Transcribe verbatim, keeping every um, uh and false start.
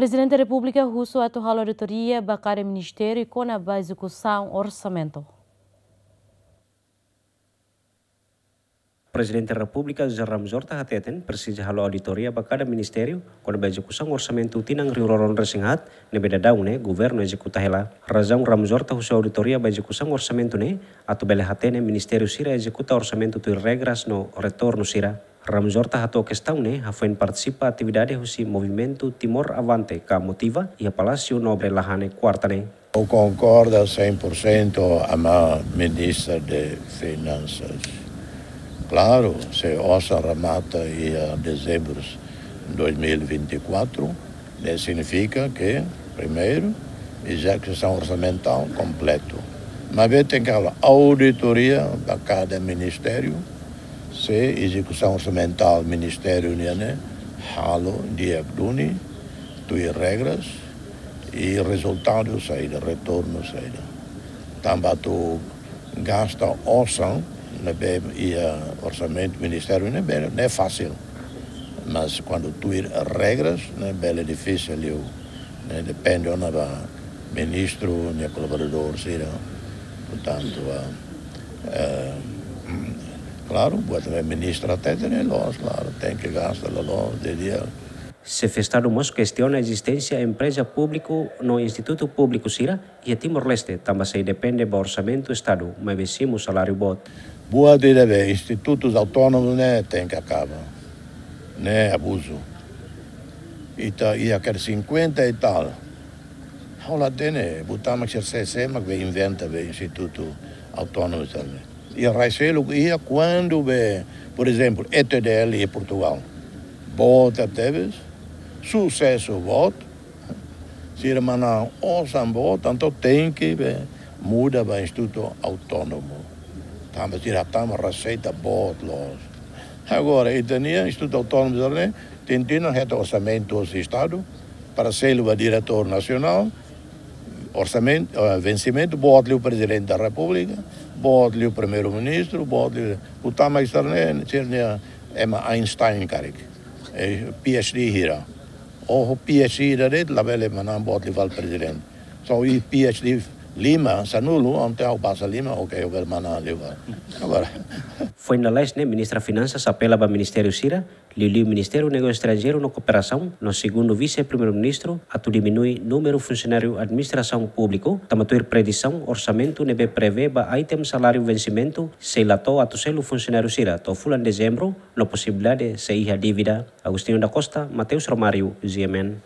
Prezidente Repúblika husu atu halo auditoria ba kada ministériu kona-ba ezekusaun orsamentu. Prezidente Repúblika José Ramos Horta hateten presiza halo auditoria ba kada ministériu kona-ba ezekusaun orsamentu tinan rihun rua ruanulu-resin-haat ne'ebé daudaun ne'e governu ezekuta hela. Razaun Ramos Horta husu auditoria ba ezekusaun orsamentu ne'e atu bele hatene ministériu sira ezekuta orsamentu tuir regras no retornu sira. Ramos Horta hato'o kestaun ne'e hafoin partisipa atividade husi Movimentu Timor Avante ka Motiva iha Palásiu Nobre Lahane, kuarta ne'e. Eu concordo cem por cento a ma ministra de Finansas. Klaru, se osan remata iha dezembru dois mil e vinte e quatro, ne'e signifika ke, primeiru, ezekusaun orsamental kompletu. Maibé tenke halo auditoria ba kada ministériu, se ezekusaun orsamental ministériu nian ne'e halo di'ak duni, tuir regras, i rezultadu saida, retornu saida. Tanba atu gasta osan ne'ebé iha orsamentu ministériu ne'e bele, ne'e fasil. Mas kuandu tuir regras ne'e bele difisil liu. Ne'e depende ona ba ministru nia kolaboradór sira. Portantu, ah, eh, klaru, buat ne'ebé ministra hatete ne'e loos, klaru, tenke gasta loloos, di'ak. Xefe Estadu mós kestiona ezisténsia empreza públiku no institutu públiku sira iha Timor-Leste, tanba sei depende ba orsamentu Estadu, maibé simu saláriu boot. Buat ida be institutus autónomus ne'e tenke akaba. Ne'e abuzu. Ita iha kere cinquenta e tal. Ha'u la hatene, buat mak sira sé, sé mak be inventa be institutu autónomu sira ne'e. Iha rai seluk iha kuandu be, por ezemplu, E T D L iha Portugal. Boot tebes, susesu boot, sira manán osan boot, entaun tenke be muda ba institutu autónomu. Tanba sira hatama reseita boot loos. Agora, ita-nia institutu autónomu sira ne'e, tinan-tinan hetan orsamentu husi Estadu, para selu ba diretór nasionál, orsamentu, eh, vensimentu, boot liu Prezidente da Repúblika, boot liu Primeiru-Ministru, boot liu, buat mak sira ne'e, sira-nia ema Einstein karik. Eh, P H D hira. Ou P H D ida de'it labele manán boot liu fali prezidente. Só iha P H D lima, sanulu, entaun ha'u basa lima, oke, ha'u bele manán liu fali. Agora. Foin lalais ne'e, Ministra Finansas apela ba ministériu sira, liuliu Ministériu Negósiu Estranjeiru no Kooperasaun, no segundu Vise-Primeiru-Ministru, atu diminui númeru funsionáriu administrasaun públiku, tanba tuir previzaun orsamentu ne'ebé prevee ba item saláriu vensimentu, sei la to'o atu selu funsionáriu sira to'o fulan Dezembru, no posibilidade sei iha dívida. Agostinho da Costa, Mateus Romário, G M N.